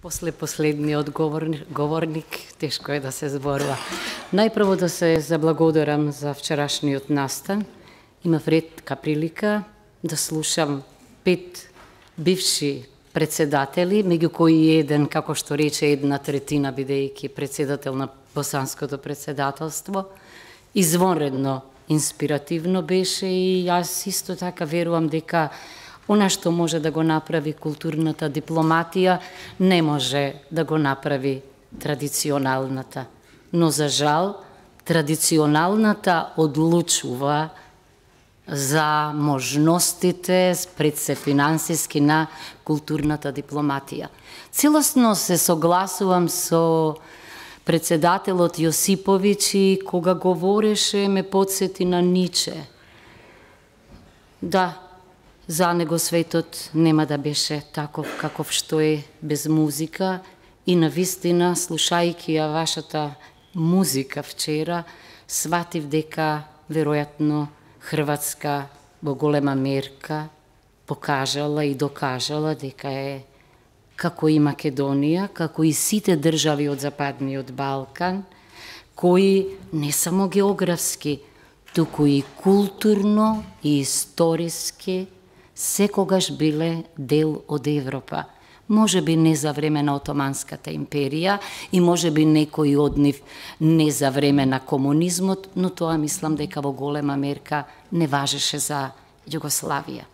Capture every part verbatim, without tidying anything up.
После последниот говорник, говорник, тешко е да се зборува. Најпрво да се заблагодарам за вчерашниот настан. Имав ретка прилика да слушам пет бивши председатели, меѓу кои еден, како што рече, една третина, бидејќи председател на Босанското председателство. Извонредно инспиративно беше и јас исто така верувам дека она што може да го направи културната дипломатија, не може да го направи традиционалната. Но за жал, традиционалната одлучува за можностите пред се финансиски на културната дипломатија. Целосно се согласувам со председателот Јосиповиќ и кога говореше ме подсети на Ниче. Да, за него светот нема да беше таков каков што е без музика и навистина, слушајќи ја вашата музика вчера, сватив дека веројатно Хрватска во голема мерка покажала и докажала дека е како и Македонија, како и сите држави од Западниот Балкан, кои не само географски, туку и културно и историски секогаш биле дел од Европа. Може би не за време на Отоманската империја и може би некои од нив не за време на комунизмот, но тоа мислам дека во голема мерка не важеше за Југославија.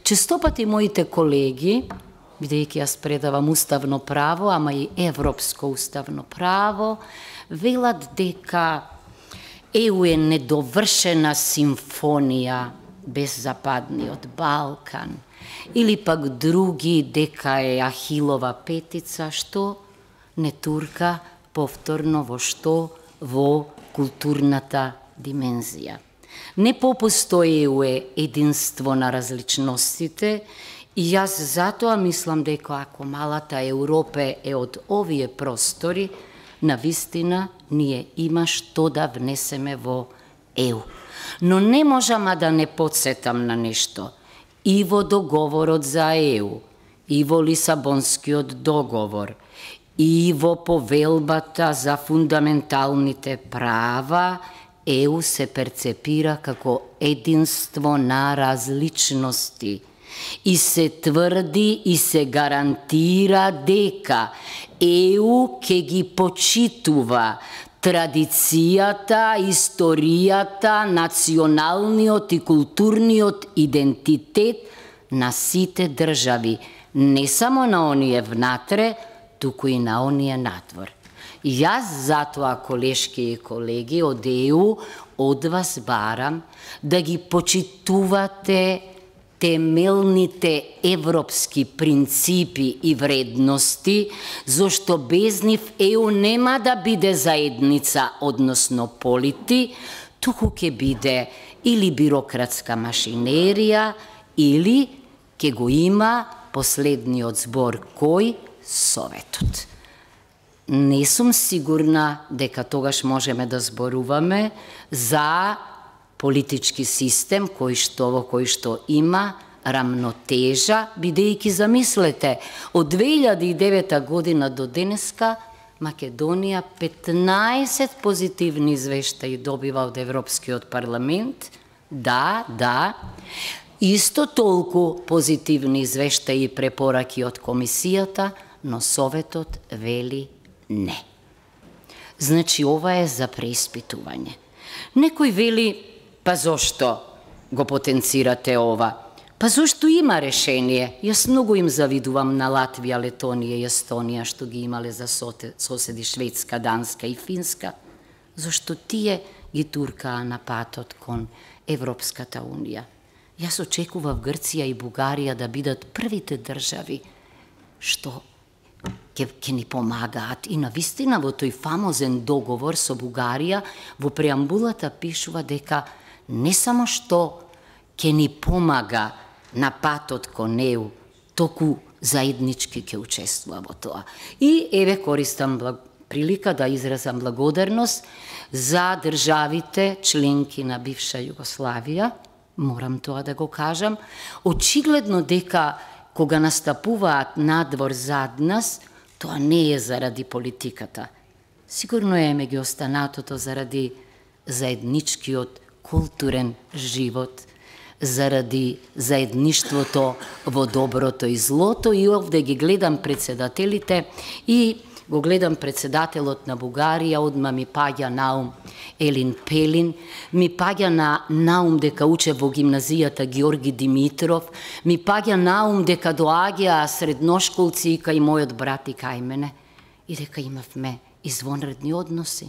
Честопати моите колеги, бидејќи јас предавам уставно право, ама и европско уставно право, велат дека ЕУ е недовршена симфонија без Западниот Балкан, или пак други дека е Ахилова петица, што не турка повторно во што? Во културната димензија. Не попостои ЕУ е единство на различностите и јас затоа мислам дека ако малата Европа е од овие простори, навистина ние има што да внесеме во ЕУ. Но не можам да не подсетам на нешто. И во договорот за ЕУ, и во Лисабонскиот договор, и во повелбата за фундаменталните права, ЕУ се перцепира како единство на различности. И се тврди и се гарантира дека ЕУ ќе ги почитува традицијата, историјата, националниот и културниот идентитет на сите држави, не само на оние внатре, туку и на оние надвор. Јас затоа, колешки и колеги од ЕУ, од вас барам да ги почитувате темелните европски принципи и вредности, зашто без нив ЕУ нема да биде заедница, односно полити, туку ќе биде или бирократска машинерија, или ќе го има последниот збор кој? Советот. Не сум сигурна дека тогаш можеме да зборуваме за политички систем кој што во кој што има рамнотежа, бидејќи замислете, од две илјади и девета година до денеска Македонија петнаесет позитивни извештаи добива од Европскиот парламент, да, да, исто толку позитивни извештаи и препораки од комисијата, но Советот вели не. Значи, ова е за преиспитување. Некој вели, па зошто го потенцирате ова? Па зошто има решение? Јас многу им завидувам на Латвија, Летонија и Естонија, што ги имале за соседи Шведска, Данска и Финска. Зошто тие ги туркаа на патот кон Европската унија. Јас очекував Грција и Бугарија да бидат првите држави што ќе ни помагаат. И навистина во тој фамозен договор со Бугарија, во преамбулата пишува дека не само што ќе ни помага на патот кон ЕУ, току заеднички ќе учествува во тоа. И еве користам прилика да изразам благодарност за државите членки на бивша Југославија, морам тоа да го кажам, очигледно дека кога настапуваат надвор зад нас, Тоа не е заради политиката. Сигурно е меѓу останатото заради заедничкиот културен живот, заради заедништвото во доброто и злото. И овде ги гледам председателите и го гледам председателот на Бугарија, одма ми паѓа наум Елин Пелин, ми паѓа на наум дека уче во гимназијата Георги Димитров, ми паѓа наум дека доаѓа средношколци кај мојот брат и кај мене и дека имавме извонредни односи.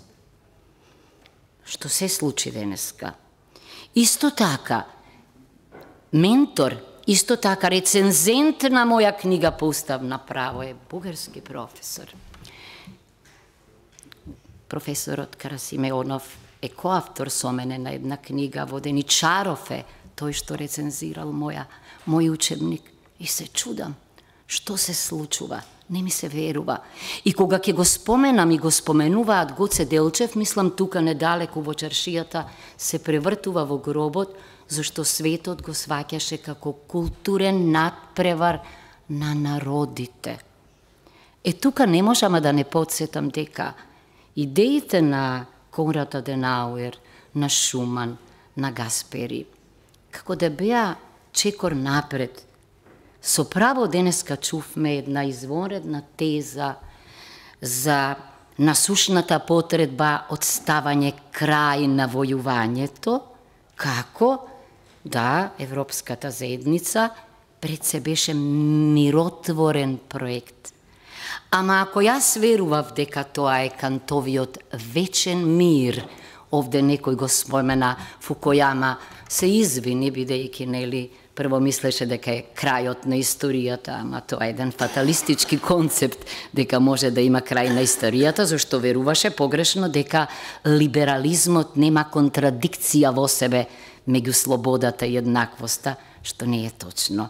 Што се случи денеска? Исто така, ментор, исто така рецензент на моја книга по уставна право е бугарски професор. Професорот Карасимеонов е коавтор со мене на една книга, Воденичаров е тој што рецензирал моја, мој учебник. И се чудам, што се случува, не ми се верува. И кога ќе го споменам и го споменуваат Гоце Делчев, мислам тука недалеку во чаршијата се превртува во гробот, зашто светот го сваќаше како културен надпревар на народите. Е тука не можам да не подсетам дека идеите на Конрад Аденауер, на Шуман, на Гаспери, како да беа чекор напред. Со право денеска чувме една извонредна теза за насушната потреба од ставање крај на војувањето, како да Европската заедница пред се беше миротворен проект. Ама ако јас верував дека тоа е Кантовиот вечен мир, овде некој го спомена Фукујама, се извини бидејќи нели прво мислеше дека е крајот на историјата, ама тоа е еден фаталистички концепт дека може да има крај на историјата, зашто веруваше погрешно дека либерализмот нема контрадикција во себе меѓу слободата и еднаквоста, што не е точно.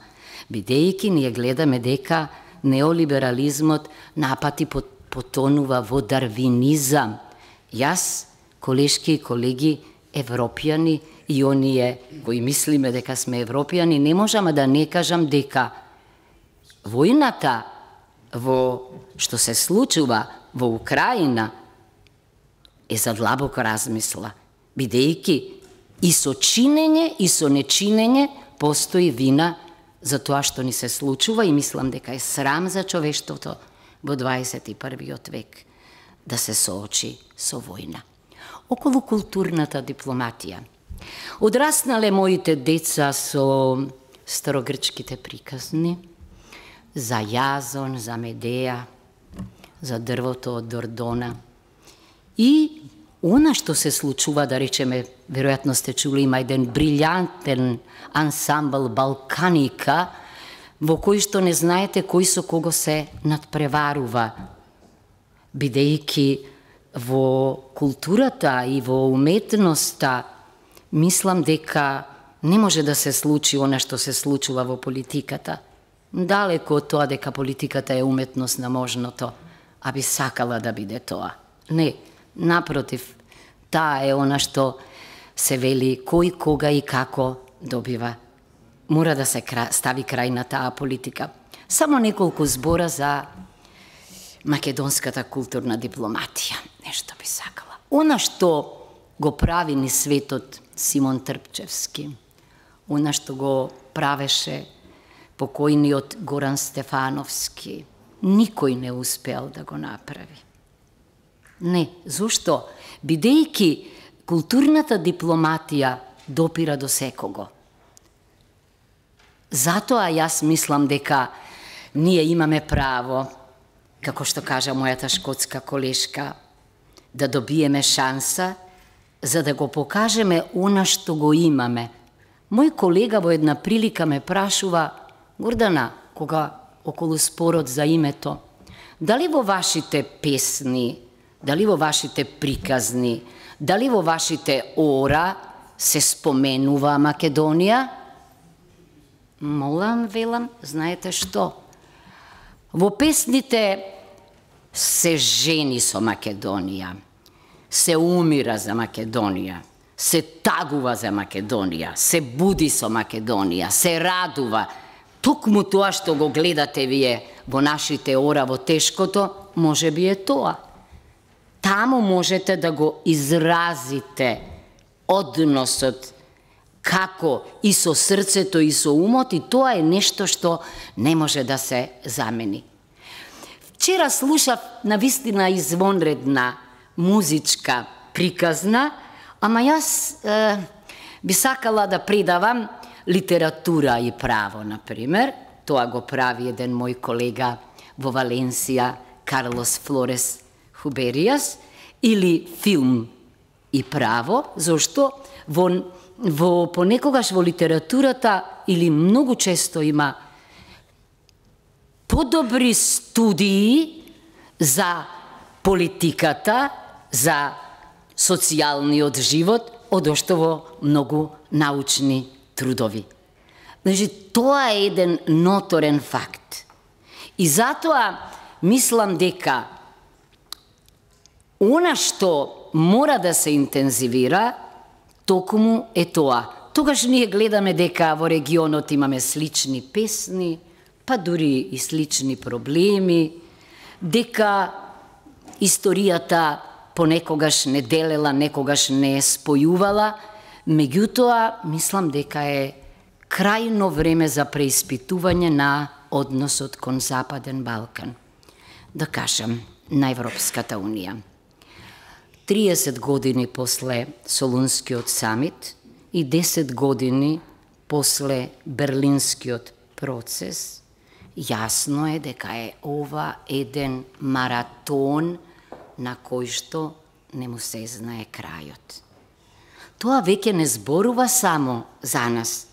Бидејќи ние гледаме дека неолиберализмот напати потонува во дарвинизам. Јас, колешки и колеги, европјани и оние кои мислиме дека сме европјани, не можам да не кажам дека војната во што се случува во Украина е за длабоко размисла, бидејќи и со чинење и со нечинење постои вина за тоа што ни се случува и мислам дека е срам за човештвото во дваесет и првиот век да се соочи со војна. Околу културната дипломатија. Одраснале моите деца со старогрчките приказни за Јазон, за Медеја, за дрвото од Дордона. И она што се случува, да речеме, веројатно сте чули, има еден брилјантен ансамбл Балканика, во кој што не знаете кој со кого се надпреварува, бидејќи во културата и во уметноста мислам дека не може да се случи она што се случува во политиката. Далеко од тоа дека политиката е уметност на можното, а би сакала да биде тоа. Не, напротив, таа е она што се вели кој, кога и како добива. Мора да се стави крај на таа политика. Само неколку збора за македонската културна дипломатија. Нешто би сакала. Она што го прави ни светот Симон Трпчевски, она што го правеше покојниот Горан Стефановски, никој не успеал да го направи. Не, зошто? Бидејќи културната дипломатија допира до секого. Затоа јас мислам дека ние имаме право, како што кажа мојата шкотска колешка, да добиеме шанса за да го покажеме она што го имаме. Мој колега во една прилика ме прашува: Гордана, кога околу спорот за името, дали во вашите песни, дали во вашите приказни, дали во вашите ора се споменува Македонија? Молам, велам, знаете што? Во песните се жени со Македонија, се умира за Македонија, се тагува за Македонија, се буди со Македонија, се радува. токму тоа што го гледате вие во нашите ора, во тешкото, може би е тоа. Таму можете да го изразите односот како и со срцето и со умот, и тоа е нешто што не може да се замени. Вчера слушав навистина извонредна музичка приказна, ама јас е, би сакала да предавам литература и право, например. Тоа го прави еден мој колега во Валенсија, Карлос Флорес Хуберијас, или филм и право, зашто во, во понекогаш во литературата или многу често има подобри студии за политиката, за социјалниот живот, одошто во многу научни трудови. Значи, тоа е еден ноторен факт. И затоа мислам дека она што мора да се интензивира, токму е тоа. Тогаш ние гледаме дека во регионот имаме слични песни, па дури и слични проблеми, дека историјата понекогаш не делела, некогаш не спојувала, меѓутоа мислам дека е крајно време за преиспитување на односот кон Западен Балкан. Да кажам, на Европската Унија. триесет години после Солунскиот самит и десет години после Берлинскиот процес, јасно е дека е ова еден маратон на кој што не му се знае крајот. Тоа веќе не зборува само за нас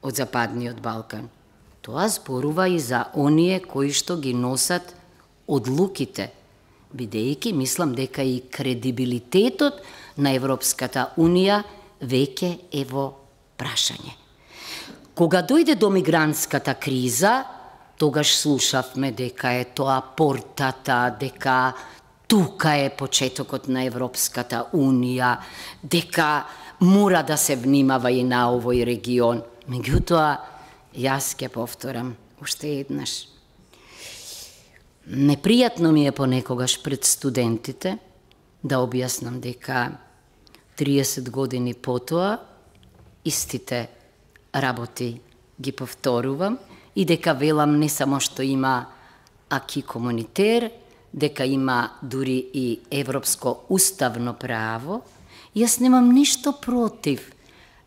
од Западниот Балкан. Тоа зборува и за оние кои што ги носат одлуките, бидејќи мислам дека и кредибилитетот на Европската Унија веќе е во прашање. Кога дојде до мигрантската криза, тогаш слушавме дека е тоа портата, дека тука е почетокот на Европската Унија, дека мора да се внимава и на овој регион. Меѓутоа, јас ќе повторам уште еднаш. Непријатно ми е понекогаш пред студентите да објаснам дека триесет години потоа истите работи ги повторувам и дека велам не само што има аки комунитер, дека има дури и европско уставно право. Јас немам ништо против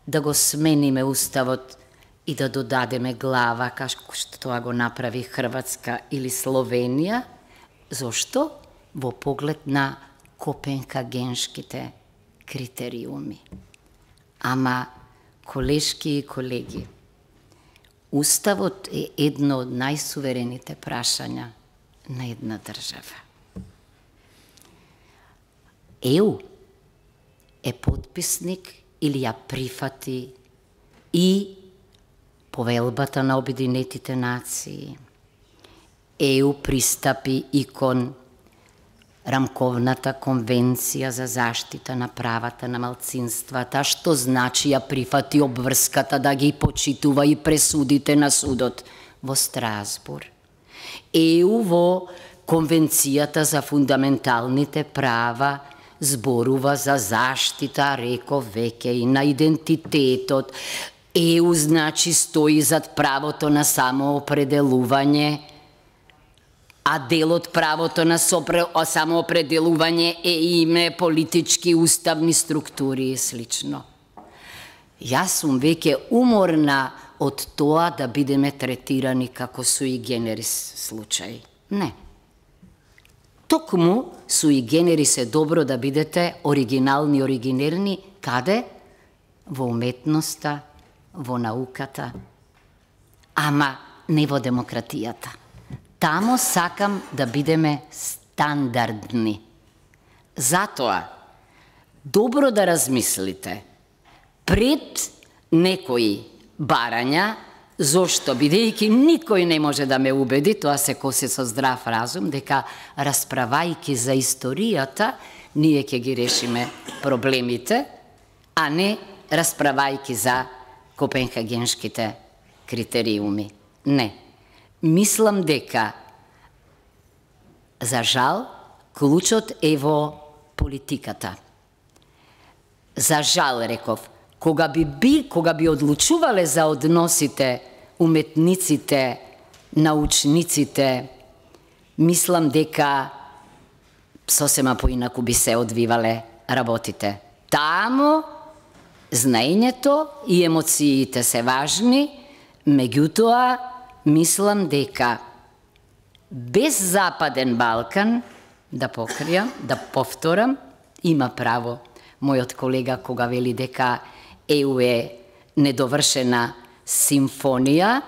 да го смениме уставот и да додадеме глава, како што тоа го направи Хрватска или Словенија. Зошто? Во поглед на копенхагеншките критериуми. Ама, колешки и колеги, уставот е едно од најсуверените прашања на една држава. ЕУ е потписник или ја прифати и Повелбата на Обединетите нации. ЕУ пристапи и кон Рамковната конвенција за заштита на правата на малцинствата, што значи ја прифати обврската да ги почитува и пресудите на судот во Страсбур. ЕУ во Конвенцијата за фундаменталните права зборува за заштита, реков веќе, и на идентитетот. ЕУ значи стои зад правото на самоопределување, а дел од правото на самоопределување е име, политички, уставни структури и слично. Јас сум веќе уморна од тоа да бидеме третирани како суи генерис случаи. Не. Токму суи генерис е добро да бидете оригинални, оригинерни, каде? Во уметноста, во науката, ама не во демократијата. Тамо сакам да бидеме стандардни. Затоа, добро да размислите пред некои барања, зошто, бидејќи никој не може да ме убеди, тоа се коси со здрав разум, дека расправајки за историјата, ние ќе ги решиме проблемите, а не расправајки за копенхагеншките критериуми. Не. Мислам дека, за жал, клучот е во политиката. За жал, реков, кога би, би, кога би одлучувале за односите уметниците, научниците, мислам дека сосема поинаку би се одвивале работите. Тамо знаењето и емоциите се важни, меѓутоа мислам дека без Западен Балкан, да покријам, да повторам, има право мојот колега кога вели дека Е У е недовршена симфонија,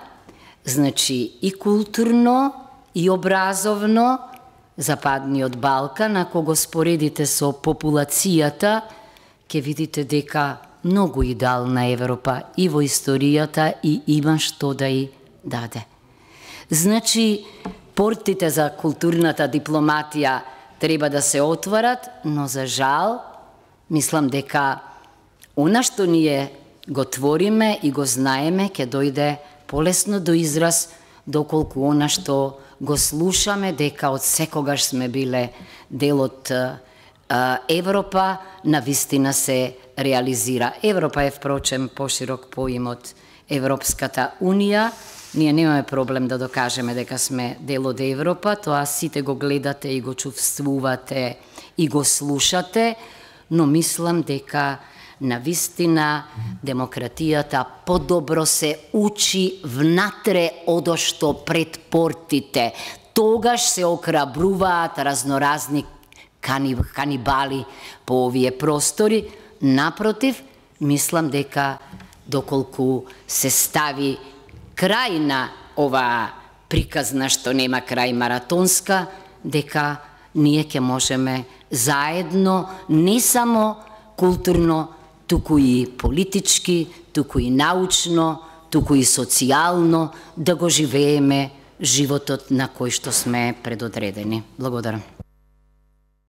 значи и културно, и образовно, Западниот Балкан, ако го споредите со популацијата, ќе видите дека многу идеална Европа и во историјата и има што да и даде. Значи, портите за културната дипломатија треба да се отворат, но за жал, мислам дека она што ние го твориме и го знаеме, ќе дојде полесно до израз, доколку она што го слушаме, дека од секогаш сме биле дел од Европа, навистина се реализира. Европа е, впрочем, поширок поим од Европската Унија. Ние немаме проблем да докажеме дека сме дел од Европа, тоа сите го гледате и го чувствувате и го слушате, но мислам дека навистина демократијата подобро се учи внатре одошто пред портите. Тогаш се окрабруваат разноразни канибали по овие простори. Напротив, мислам дека доколку се стави крај на ова приказна што нема крај маратонска, дека ние ќе можеме заедно, не само културно, туку и политички, туку и научно, туку и социјално, да го живееме животот на кој што сме предодредени. Благодарам.